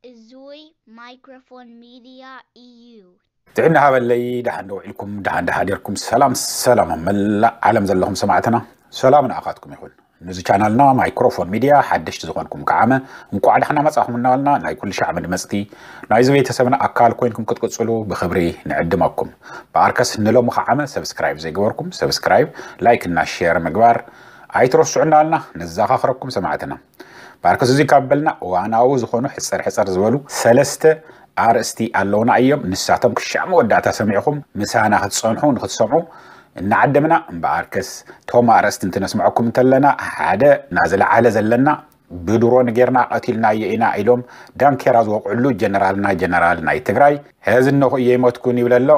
እዙይ ማይክሮፎን ሚድያ እዩ። ጥዕና ሃበለይ፣ ደሓን ዶ ውዒልኩም፣ ደሓን ዶ ሓዲርኩም? ሰላም ሰላም፣ ኣብ መላእ ዓለም ዘለኹም ሰማዕትና፣ ሰላም ንኣኻትኩም ይኹን። ነዚ ቻናልና ማይክሮፎን ሚድያ ሓደሽቲ ዝኾንኩም ከዓመ እንቋዕ ደሓና መጻኹም እናበልና፣ ናይ ኩሉ ሻዕ መድመጽቲ ናይዚ ቤተሰብና ኣካል ኮይንኩም ክትቅጽሉ ብኽብሪ ንዕድመኩም። ብኣርከስ ንሎሚ ከዓመ ሰብስክራይብ ዘይገበርኩም ሰብስክራይብ፣ ላይክ እና ሼር ምግባር ኣይትረስዑ እናበልና ነዛኻኽረኩም ሰማዕትና። ብኣርከስ እዚ ካብ በልና እዋናዊ ዝኾኑ ሕጽር ሕጽር ዝበሉ ሰለስተ ኣርእስቲ ኣለውና እዮም። ንሳቶም ክሻዕ መወዳእታ ሰሚዕኹም ምሳና ክትጸንሑ ንክትሰምዑ እናዓደምና፣ እምበኣርከስ እቶም ኣርእስቲ እንትነስምዐኩም እንተለና፣ ሓደ ናዝለዓለ ዘለና ብድሮን ጌርና ቀቲልናዮ ኢና ኢሎም ዳንኬራ ዝወቕዕሉ ጀነራልና ጀነራል ናይ ትግራይ፣ ሕዚ እነኹ እየ ይሞትኩን ይብል ኣሎ።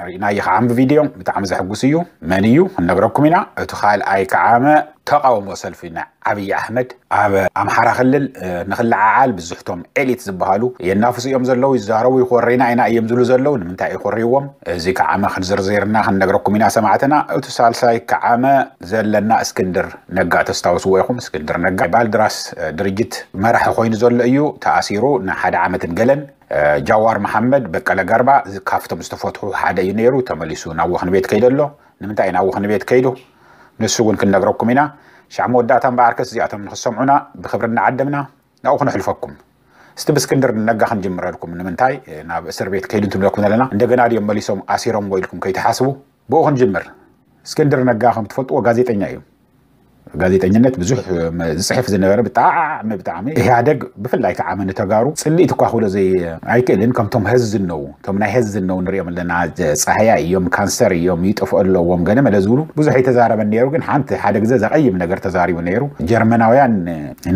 ርኢናዮ ከዓ ብቪድዮ፣ ብጣዕሚ ዘሕጉስ እዩ። መን እዩ ክንነግረኩም ኢና። እቲ ካልኣይ ከዓመ ተቃውሞ ሰልፊ ናይ ዓብዪ ኣሕመድ ኣብ ኣምሓራ ክልል፣ እ፣ ንክለዓዓል ብዙሕቶም ኤሊት ዝበሃሉ የናፍሱ እዮም ዘለዉ፣ ይዛረቡ፣ ይኮሬና ኢና እዮም ዝብሉ ዘለዉ። ንምንታይ ይኮርይዎም? እዚ ከዓመ ክንዝርዝርና ክንነግረኩም ኢና ሰማዕትና። እቲ ሳልሳይ ከዓመ ዘለና እስክንድር ነጋ ተስታውስዎ ኢኹም። እስክንድር ነጋ ባልድራስ፣ እ፣ ድርጅት መራሒ ኮይኑ ዘሎ እዩ። ተኣሲሩ ንሓደ ዓመትን ገለን። እ፣ ጃዋር መሓመድ፣ በቀለ ገርባ፣ እዚ ካብቶም ዝተፈትሑ ሓደ እዩ ነይሩ። ተመሊሱ ናብ ወኽኒ ቤት ከይዱ ኣሎ። ንምንታይ ናብ ወኽኒ ቤት ከይዱ? ንሱ እውን ክንነግረኩም ኢና። ሻዕ መወዳእታ እምበኣርከስ እዚኣቶም ንክሰምዑና ብክብሪ እናዓደምና ናብኡ ክነሕልፈኩም። እስቲ ብእስክንድር ነጋ ክንጅምረልኩም። ንምንታይ ናብ እስር ቤት ከይዱ እንትብለኩም ዘለና፣ እንደገና ድዮም መሊሶም ኣሲሮምዎ ኢልኩም ከይትሓስቡ፣ ብኡ ክንጅምር። እስክንድር ነጋ ከም ትፈልጥዎ ጋዜጠኛ እዩ። ጋዜጠኝነት ብዙሕ ዝፅሕፍ ዝነበረ፣ ብጣዕሚ ብጣዕሚ ኢህኣደግ ብፍላይ ከዓ ንተጋሩ ፅልኢት እኳ ክብሎ ዘይ ኣይክእልን። ከምቶም ሀዚ ዝነው፣ እቶም ናይ ሀዚ ዝነው ንሪኦም ኣለና፣ ፃህያይ እዮም፣ ካንሰር እዮም፣ ይጠፍኡ ኣለዎም፣ ገለ መለ ዝብሉ ብዙሕ ኣይተዛረበን ነይሩ። ግን ሓንቲ ሓደ ግዜ ዘቐይም ነገር ተዛሪቡ ነይሩ። ጀርመናውያን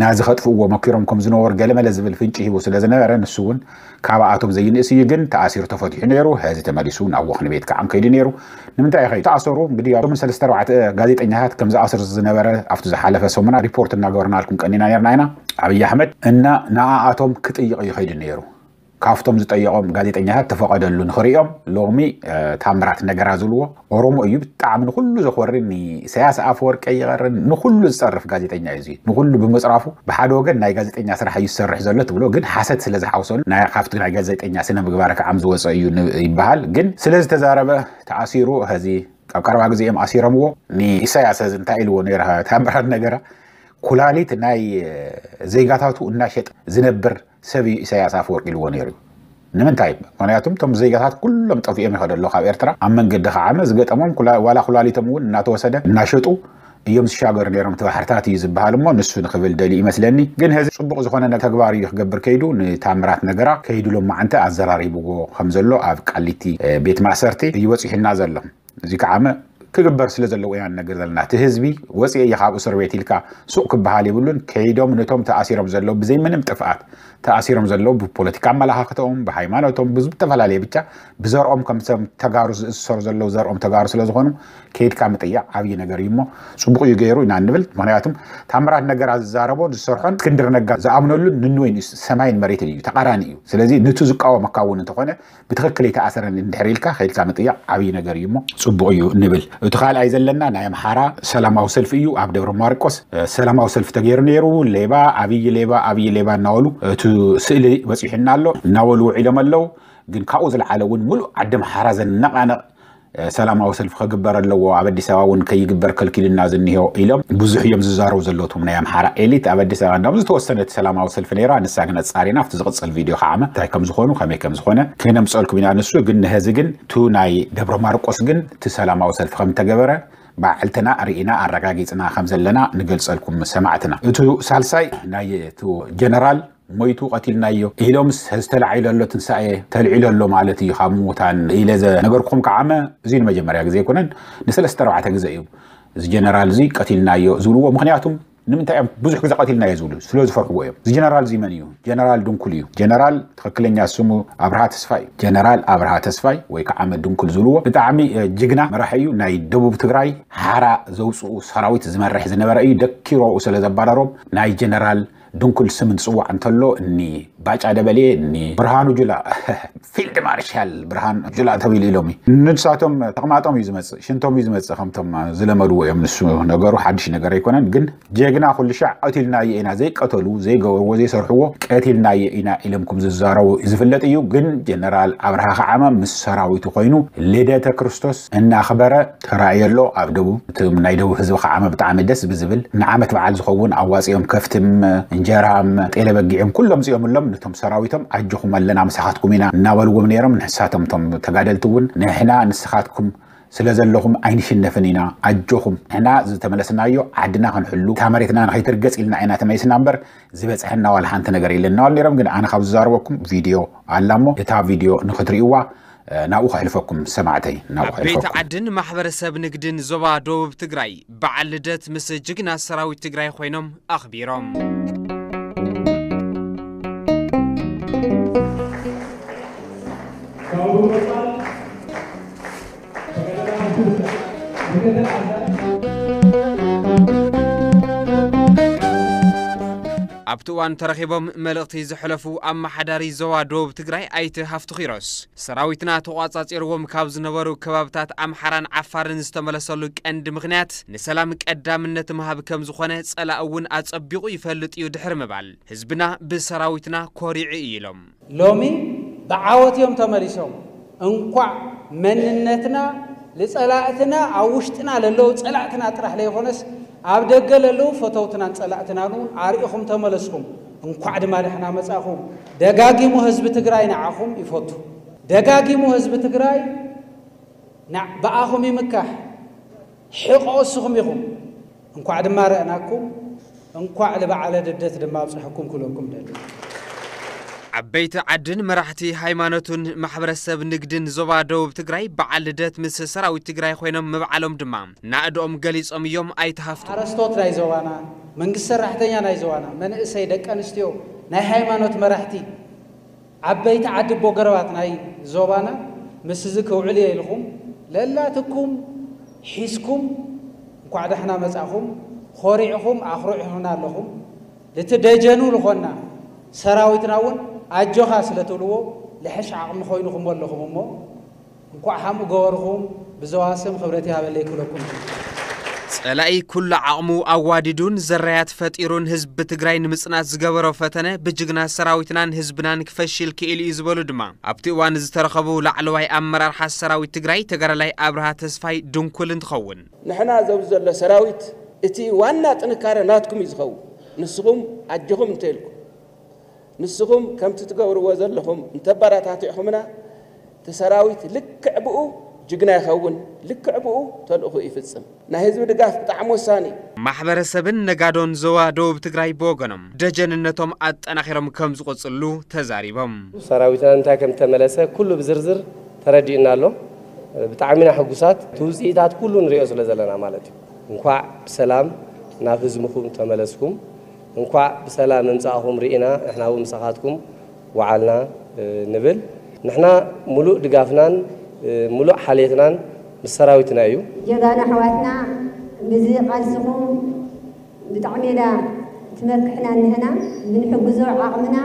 ናዚ ከጥፍእዎ መኪሮም ከም ዝነበሩ ገለ መለ ዝብል ፍንጪ ሂቡ ስለ ዝነበረ፣ ንሱ እውን ካብኣቶም ዘይንእስ እዩ። ግን ተኣሲሩ ተፈቲሑ ነይሩ። ሀዚ ተመሊሱ ናብ ወኽኒ ቤት ከዓ ከይዱ ነይሩ። ንምንታይ እዩ ከይዱ? ተኣሰሩ። እንግዲህ ኣብቶም ሰለስተ ኣርባዕተ ጋዜጠኛታት ከም ዝኣስር ዝነበረ ኣብቲ ዝሓለፈ ሰሙና ሪፖርት እናገበርናልኩም ቀኒና ነርና ኢና። ኣብይ ኣሕመድ እና ንኣኣቶም ክጥይቕ እዩ ከይዱ ነይሩ። ካብቶም ዝጠየቖም ጋዜጠኛታት ተፈቐደሉ ንኽርእዮም። ሎሚ፣ እ፣ ታምራት ነገራ ዝብልዎ ኦሮሞ እዩ። ብጣዕሚ ንኹሉ ዘኾሪ፣ ንኢሳያስ ኣፈወርቂ ይቐርን ንኹሉ ዝጸርፍ ጋዜጠኛ እዩ። እዚ ንኹሉ ብምጽራፉ ብሓደ ወገን ናይ ጋዜጠኛ ስራሕ እዩ ዝሰርሕ ዘሎ ትብሎ፣ ግን ሓሰት ስለ ዝሓውሰሉ ናይ፣ ካብቲ ናይ ጋዜጠኛ ስነ ምግባር ከዓም ዝወፀ እዩ ን-፣ ይበሃል። ግን ስለ ዝተዛረበ ተኣሲሩ። ሀዚ ኣብ ቀረባ ግዜ እዮም ኣሲሮምዎ። ንኢሳያስ ሀዚ እንታይ ኢልዎ ነይረ ታምራት ነገራ? ኩላሊት ናይ ዜጋታቱ እናሸጠ ዝነብር ሰብ እዩ ኢሳያስ ኣፈወርቂ ኢልዎ ነይሩ። ንምንታይ? ምክንያቱም እቶም ዜጋታት ኩሎም ጠፊኦም ይኸዱ ኣለዉ ካብ ኤርትራ። ኣብ መንገዲ ከዓመ ዝገጠሞም ኩላ-፣ ዋላ ኩላሊቶም እውን እናተወሰደ እናሸጡ እዮም ዝሻገሩ ነይሮም። እቲ ባሕርታት እዩ ዝበሃል እሞ ንሱ ንክብል ደልዩ ይመስለኒ። ግን ሀዚ ፅቡቕ ዝኾነ ነ-፣ ተግባር እዩ ክገብር ከይዱ። ንታምራት ነገራ ከይዱ ሎማዓንቲ ኣዘራሪብዎ ከም ዘሎ ኣብ ቃሊቲ፣ እ፣ ቤት ማእሰርቲ እዩ በፂሑና ዘሎ። እዚ ከዓመ ክግበር ስለ ዘለዎ ኢና ንነግር ዘለና። እቲ ህዝቢ ወፂኤ እየ ካብ እስር ቤት ኢልካ ሱቕ ክበሃል የብሉን። ከይዶም ነቶም ተኣሲሮም ዘለዉ ብዘይ ምንም ጥፍኣት ተኣሲሮም ዘለዉ ብፖለቲካ ኣመለኻኽተኦም፣ ብሃይማኖቶም፣ ብዝተፈላለየ ብቻ ብዘርኦም ከም ሰብ ተጋሩ ዝእሰሩ ዘለዉ ዘርኦም ተጋሩ ስለ ዝኾኑ ከይድካ ምጥያቕ ዓብዪ ነገር እዩ እሞ ፅቡቕ እዩ ገይሩ ኢና እንብል። ምክንያቱም ታምራት ነገራ ዝዛረቦን ዝሰርሖን እስክንድር ነጋ ዝኣምነሉን ንንወይን እዩ፣ ሰማይን መሬትን እዩ፣ ተቃራኒ እዩ። ስለዚ ንቱ ዝቃወመካ እውን እንተኾነ ብትኽክል ኣይተኣሰረን እንድሕር ኢልካ ከይድካ ምጥያቕ ዓብዪ ነገር እዩ እሞ ፅቡቕ እዩ ንብል። እቲ ካልኣይ ዘለና ናይ ኣምሓራ ሰላማዊ ሰልፊ እዩ። ኣብ ደብረ ማርቆስ፣ እ፣ ሰላማዊ ሰልፊ ተገይሩ ነይሩ። ሌባ፣ ኣብዪ ሌባ፣ ኣብዪ ሌባ እናበሉ እቲ ስእሊ በፂሑና ኣሎ እናበሉ ውዒሎም ኣለዉ። ግን ካብኡ ዝለዓለ እውን ሙሉእ ዓዲ ኣምሓራ ዘነቓነቕ፣ እ፣ ሰላማዊ ሰልፊ ክግበር ኣለዎ፣ ኣብ ኣዲስ ኣበባ እውን ከይግበር ከልኪሉና ዝኒሆ ኢሎም ብዙሕ እዮም ዝዛረቡ ዘለዉ እቶም ናይ ኣምሓራ ኤሊት። ኣብ ኣዲስ ኣበባ እንዳም ዝተወሰነት ሰላማዊ ሰልፊ ነይራ፣ ንሳ ግን ኣጻሪና ኣብቲ ዝቕጽል ቪድዮ ከዓመ እንታይ ከም ዝኾኑ ከመይ ከም ዝኾነ ክነምጸልኩም ኢና። ንሱ ግን ንህዚ ግን ቱ ናይ ደብረ ማርቆስ ግን እቲ ሰላማዊ ሰልፊ ከም ተገበረ ባዕልትና ርኢና ኣረጋጊጽና ከም ዘለና ንገልጸልኩም ሰማዕትና። እቱ ሳልሳይ ናይ እቱ ጀነራል ሞይቱ ቀቲልናዮ ኢሎምስ ህዚ ተላዒሉ ኣሎ፣ ትንሳኤ ተልዒሉ ኣሎ ማለት እዩ ካብ ምዉታን ኢለ ዘነገርኩም ከዓመ እዚ ንመጀመርያ ግዜ ኣይኮነን፣ ንሰለስተ ኣርባዕተ ግዜ እዩ እዚ ጀነራል እዚ ቀቲልናዮ ዝብልዎ። ምኽንያቱም ንምንታይ እዮም ብዙሕ ግዜ ቀቲልናዮ ዝብሉ? ስለ ዝፈርሕዎ እዮም። እዚ ጀነራል እዚ መን እዩ? ጀነራል ድንኩል እዩ። ጀነራል ትኽክለኛ ስሙ ኣብርሃ ተስፋይ እዩ። ጀነራል ኣብርሃ ተስፋይ ወይ ከዓ ድንኩል ዝብልዎ ብጣዕሚ፣ እ፣ ጅግና መራሒ እዩ። ናይ ደቡብ ትግራይ ሓራ ዘውፅኡ ሰራዊት ዝመርሕ ዝነበረ እዩ። ደኪሮ ኣብኡ ስለ ዘባረሮም ናይ ጀነራል ድንኩል ስም እንትፅዋዕ እንተሎ እኒ ባጫ ደበሌ፣ እኒ ብርሃኑ ጁላ፣ ፊልድ ማርሻል ብርሃኑ ጁላ ተባሂሉ ኢሎም እዩ። ንሳቶም ተቕማጦም እዩ ዝመጽእ፣ ሽንቶም እዩ ዝመጽእ፣ ከምቶም ዝለመድዎ እዮም። ንሱ ነገሩ ሓድሽ ነገር ኣይኮነን፣ ግን ጀግና ኩሉ ሻዕ ቀቲልናዮ ኢና፣ ዘይቀተሉ፣ ዘይገበርዎ፣ ዘይሰርሕዎ ቀቲልናዮ ኢና ኢሎም ከም ዝዛረቡ ዝፍለጥ እዩ። ግን ጀነራል ኣብርሃ ከዓመ ምስ ሰራዊቱ ኮይኑ ልደተ ክርስቶስ እናኽበረ ተራእየ ኣሎ። ኣብ ደቡብ፣ እቲ ናይ ደቡብ ህዝቢ ከዓመ ብጣዕሚ ደስ ብዝብል ንዓመት በዓል ዝኸውን ኣዋፂኦም ከፍትም፣ እንጀራም፣ ጤለ በጊዕም ኩሎም ፅኦምሎም ነቶም ሰራዊቶም ኣጆኹም ኣለና ምሳኻትኩም ኢና እናበልዎም ነይሮም። ንሳቶም እቶም ተጋደልቲ እውን ንሕና ንስኻትኩም ስለ ዘለኹም ኣይንሽነፍን ኢና፣ ኣጆኹም፣ ንሕና ዝተመለስናዮ ዓድና ክንሕሉ፣ እታ መሬትና ንኸይትርገጽ ኢልና ኢና ተመሊስና እምበር ዝበጽሐና ዋላ ሓንቲ ነገር የለን እናበሉ ነይሮም። ግን ኣነ ካብ ዝዛረበኩም ቪድዮ ኣላ እሞ እታ ቪድዮ ንኽትርእይዋ፣ እ፣ ናብኡ ከሕልፈኩም ሰማዕተይ፣ ናብኡ ዓበይቲ ከሕልፈኩም። ዓድን ማሕበረሰብ ንግድን ዞባ ደቡብ ትግራይ በዓል ልደት ምስ ጅግና ሰራዊት ትግራይ ኮይኖም ኣኽቢሮም። ኣብቲ እዋን ተረኺቦም መልእኽቲ ዘሕለፉ ኣመሓዳሪ ዞባ ደቡብ ትግራይ ኣይተ ሃፍቱ ኪሮስ፣ ሰራዊትና ተቋጻጺርዎም ካብ ዝነበሩ ከባብታት ኣምሓራን ዓፋርን ዝተመለሰሉ ቀንዲ ምኽንያት ንሰላም ቀዳምነት ምሃብ ከም ዝኾነ ጸላኢ እውን ኣጸቢቑ ይፈልጥ እዩ ድሕሪ ምባል፣ ህዝብና ብሰራዊትና ኮሪዑ እዩ ኢሎም። ሎሚ ብዓወት እዮም ተመሊሶም። እንኳዕ መንነትና ንጸላእትና፣ ኣብ ውሽጥና ለለዉ ጸላእትና ጥራሕ ለይኾነስ ኣብ ደገ ለለዉ ፈተውትናን ጸላእትናን እውን ኣርኢኹም ተመለስኩም። እንኳዕ ድማ ደሕና መጻኹም። ደጋጊሙ ህዝቢ ትግራይ ንዓኹም ይፈቱ። ደጋጊሙ ህዝቢ ትግራይ ና-፣ ብኣኹም ይምካሕ። ሕቆ እስኹም ኢኹም። እንኳዕ ድማ ረእናኩም፣ እንኳዕ ንበዓለ ልደት ድማ ኣብፅሐኩም ክብለኩም ደሊ። ዓበይቲ ዓድን መራሕቲ ሃይማኖትን ማሕበረሰብ ንግድን ዞባ ደቡብ ትግራይ በዓል ልደት ምስ ሰራዊት ትግራይ ኮይኖም ምብዓሎም ድማ ናእድኦም ገሊጾም እዮም ኣይተ ሃፍቱ። ሓረስቶት ናይ ዞባና፣ መንግስቲ ሰራሕተኛ ናይ ዞባና፣ መንእሰይ፣ ደቂ ኣንስትዮ፣ ናይ ሃይማኖት መራሕቲ፣ ዓበይቲ ዓዲ ኣቦ ገረባት ናይ ዞባና ምስ እዚ ክውዕል እየ ኢልኩም ለላትኩም ሒዝኩም እንኳዕ ዳሕና መጻኹም። ኮሪዕኹም ኣኹሪዕኹምና ኣለኹም። እቲ ደጀኑ ዝኾንና ሰራዊትና እውን ኣጆኻ ስለ ትብልዎ ልሕሽ ዓቕሚ ኮይኑኹም ኣለኹም እሞ እንኳዕ ከምኡ ገበርኹም። ብዘዋ ስም ክብረት ይሃበለይ ክብለኩም። ጸላኢ ኩሉ ዓቕሙ ኣዋዲዱን ዘራያት ፈጢሩን ህዝቢ ትግራይ ንምጽናት ዝገበሮ ፈተነ ብጅግና ሰራዊትናን ህዝብናን ክፈሽል ክኢሉ እዩ ዝበሉ ድማ ኣብቲ እዋን ዝተረኸቡ ላዕለዋይ ኣመራርሓ ሰራዊት ትግራይ ተጋዳላይ ኣብርሃ ተስፋይ ድንኩል እንትኸውን። ንሕና ዘብዚ ዘሎ ሰራዊት እቲ ዋና ጥንካረ ናትኩም እዩ ዝኸውን። ንስኹም ኣጆኹም እንተኢልኩም፣ ንስኹም ከምቲ ትገብርዎ ዘለኹም እንተበረታቲዕኹምና፣ እቲ ሰራዊት ልክዕ ብኡ ጅግና ይኸውን፣ ልክዕ ብኡ ተልእኹ ይፍጽም። ናይ ህዝቢ ድጋፍ ብጣዕሚ ወሳኒ እዩ። ማሕበረሰብን ነጋዶን ዞባ ደቡብ ትግራይ ብወገኖም ደጀንነቶም ኣጠናኺሮም ከም ዝቕጽሉ ተዛሪቦም። ሰራዊትና እንታይ ከም ተመለሰ ኩሉ ብዝርዝር ተረዲእና ኣሎ። ብጣዕሚ ኢና ሕጉሳት። እቲ ውፅኢታት ኩሉ ንሪኦ ስለ ዘለና ማለት እዩ። እንኳዕ ብሰላም ናብ ህዝብኹም ተመለስኩም። እንኳዕ ብሰላም ምምፃእኹም ርኢና፣ ንሕና እውን ምሳኻትኩም ወዓልና፣ እ፣ ንብል። ንሕና ሙሉእ ድጋፍናን፣ እ፣ ሙሉእ ሓልየትናን ምስ ሰራዊትና እዩ። ጀጋኑ ኣሕዋትና፣ ብዚ ቃልስኹም ብጣዕሚ ኢና ትመክሕና እንህና። ብንሕግዞ ዓቕምና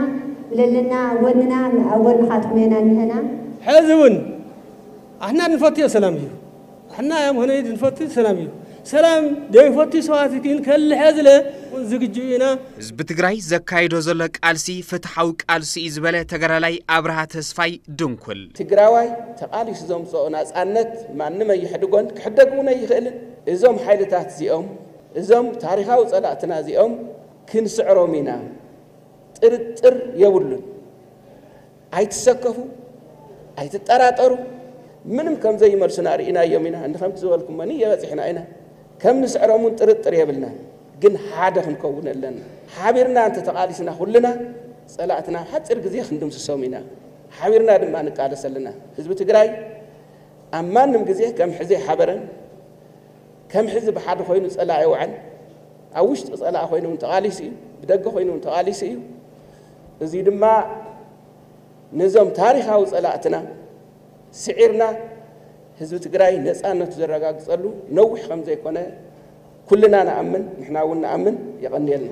ብለለና ጎንና ኣብ ጎንኻትኩም ኢና እንህና። ሕዚ እውን ኣሕና ንፈትዮ ሰላም እዩ። ኣሕና ያም ሆነ ንፈትዮ ሰላም እዩ። ሰላም ዘይፈትዩ ሰባት ግን ከልሐ ዝለ ዝግጁ ኢና። ህዝቢ ትግራይ ዘካይዶ ዘሎ ቃልሲ ፍትሓዊ ቃልሲ እዩ ዝበለ ተጋዳላይ ኣብርሃ ተስፋይ ድንኩል። ትግራዋይ ተቓሊሱ ዘምፅኦ ናፃነት ማንም ኣይሕድጎን፣ ክሕደግ እውን ኣይኽእልን። እዞም ሓይልታት እዚኦም፣ እዞም ታሪኻዊ ፀላእትና እዚኦም ክንስዕሮም ኢና። ጥርጥር የብሉን። ኣይትሰከፉ፣ ኣይትጠራጠሩ። ምንም ከም ዘይመልሱና ርኢናዮም ኢና። እንዲ ከምቲ ዝበልኩሞኒ የበፂሕና ኢና። ከም ንስዕሮም እውን ጥርጥር የብልናን። ግን ሓደ ክንከውን ኣለና። ሓቢርና እንተተቓሊስና ኩልና ፀላእትና ሓፂር ግዜ ክንድምስሶም ኢና። ሓቢርና ድማ ንቃለስ ኣለና። ህዝቢ ትግራይ ኣብ ማንም ግዜ ከም ሕዚ ሓበረን ከም ሕዚ ብሓደ ኮይኑ ፀላኢ ይውዕል። ኣብ ውሽጢ ፀላኢ ኮይኑ እውን ተቓሊሱ እዩ። ብደገ ኮይኑ እውን ተቓሊሱ እዩ። እዚ ድማ ነዞም ታሪኻዊ ፀላእትና ስዒርና ህዝቢ ትግራይ ነፃነቱ ዘረጋግፀሉ ነዊሕ ከም ዘይኮነ ኩልና ንኣምን፣ ንሕና እውን ንኣምን። የቐንየልና።